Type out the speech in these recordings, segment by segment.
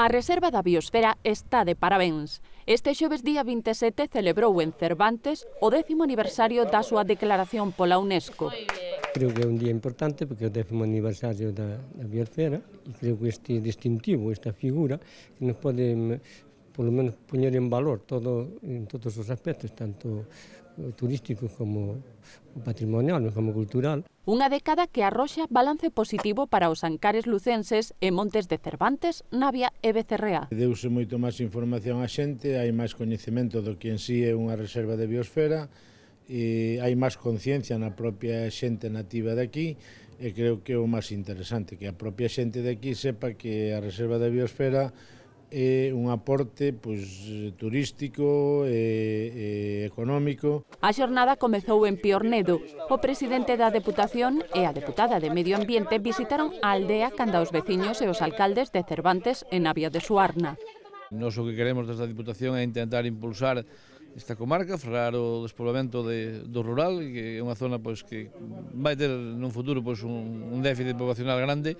A Reserva da Biosfera está de parabéns. Este xoves día 27 celebrou en Cervantes o 10º aniversario da súa declaración pola UNESCO. Creo que é un día importante porque é o 10º aniversario da Biosfera e creo que este distintivo, esta figura, que nos pode, polo menos, poñer en valor en todos os aspectos, tanto turísticos como patrimonial, como cultural. Unha década que arroxa balance positivo para os Ancares lucenses e Montes de Cervantes, Navia e Becerrea. Deuse moito máis información á xente, hai máis coñecemento do que en sí é unha reserva de biosfera, e hai máis conciencia na propia xente nativa de aquí, e creo que é o máis interesante, que a propia xente de aquí sepa que a reserva de biosfera é un aporte turístico e económico. A xornada comezou en Piornedo. O presidente da Deputación e a deputada de Medio Ambiente visitaron a aldea canda os veciños e os alcaldes de Cervantes e Navia de Suarna. Nos o que queremos desde a Deputación é intentar impulsar esta comarca, frear o despoboamento do rural, que é unha zona que vai ter nun futuro un déficit poblacional grande,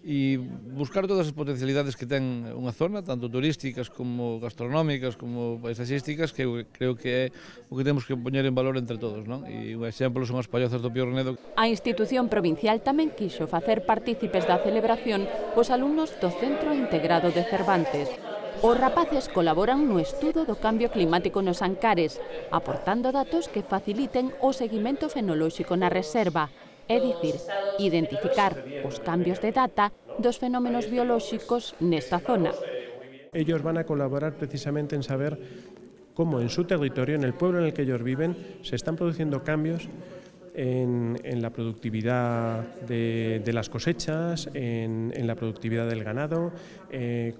e buscar todas as potencialidades que ten unha zona, tanto turísticas como gastronómicas, como paisaxísticas, que creo que é o que temos que poñer en valor entre todos, non? E un exemplo son as pallozas do Piornedo. A institución provincial tamén quixo facer partícipes da celebración os alumnos do Centro Integrado de Cervantes. Os rapaces colaboran no estudo do cambio climático nos Ancares, aportando datos que faciliten o seguimento fenolóxico na reserva, é dicir, identificar os cambios de data dos fenómenos biolóxicos nesta zona. Ellos van a colaborar precisamente en saber cómo en su territorio, en el pueblo en el que ellos viven, se están produciendo cambios en la productividad de las cosechas, en la productividad del ganado,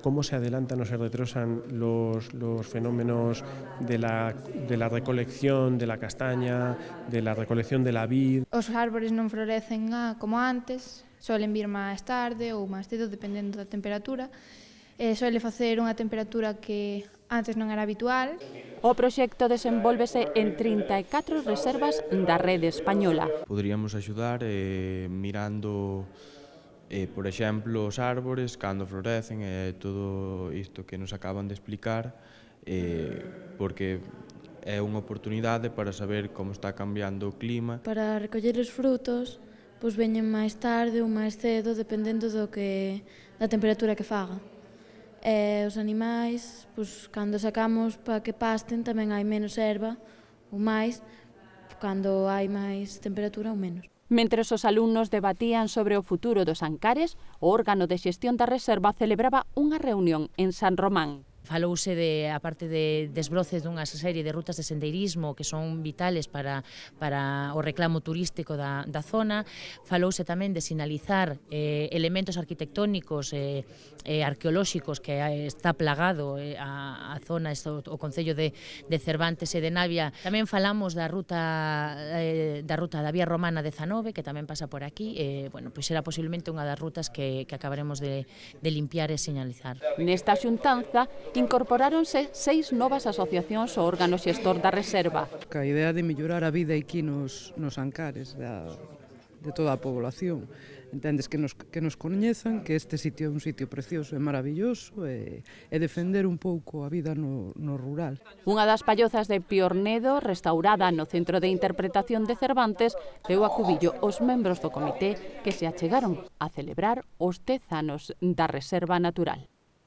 cómo se adelantan o se retrasan los fenómenos de la recolección de la castaña, de la recolección de la vid. Os árbores non florecen como antes, solen vir máis tarde ou máis cedo, dependendo da temperatura. Suele facer unha temperatura que antes non era habitual. O proxecto desenvólvese en 34 reservas da rede española. Poderíamos axudar mirando, por exemplo, os árbores, cando florecen, e todo isto que nos acaban de explicar, porque é unha oportunidade para saber como está cambiando o clima. Para recoller os frutos, veñen máis tarde ou máis cedo, dependendo da temperatura que faga. Os animais, cando sacamos para que pasten, tamén hai menos erva ou máis, cando hai máis temperatura ou menos. Mentres os alumnos debatían sobre o futuro dos Ancares, o órgano de xestión da reserva celebraba unha reunión en San Román. Falouse a parte de desbroces dunha serie de rutas de sendeirismo que son vitales para o reclamo turístico da zona. Falouse tamén de sinalizar elementos arquitectónicos e arqueolóxicos que está plagado a zona, o concello de Cervantes e de Navia. Tamén falamos da ruta da Vía Romana 19, que tamén pasa por aquí. Pois será posiblemente unha das rutas que acabaremos de limpiar e sinalizar. Nesta xuntanza incorporáronse 6 novas asociacións ao órgano xestor da reserva. A idea de mellorar a vida aquí nos Ancares, de toda a población. Entendes que nos coñezan, que este sitio é un sitio precioso e maravilloso, e defender un pouco a vida no rural. Unha das pallozas de Piornedo, restaurada no Centro de Interpretación de Cervantes, deu a cubillo os membros do comité que se achegaron a celebrar os 10 anos da Reserva Natural.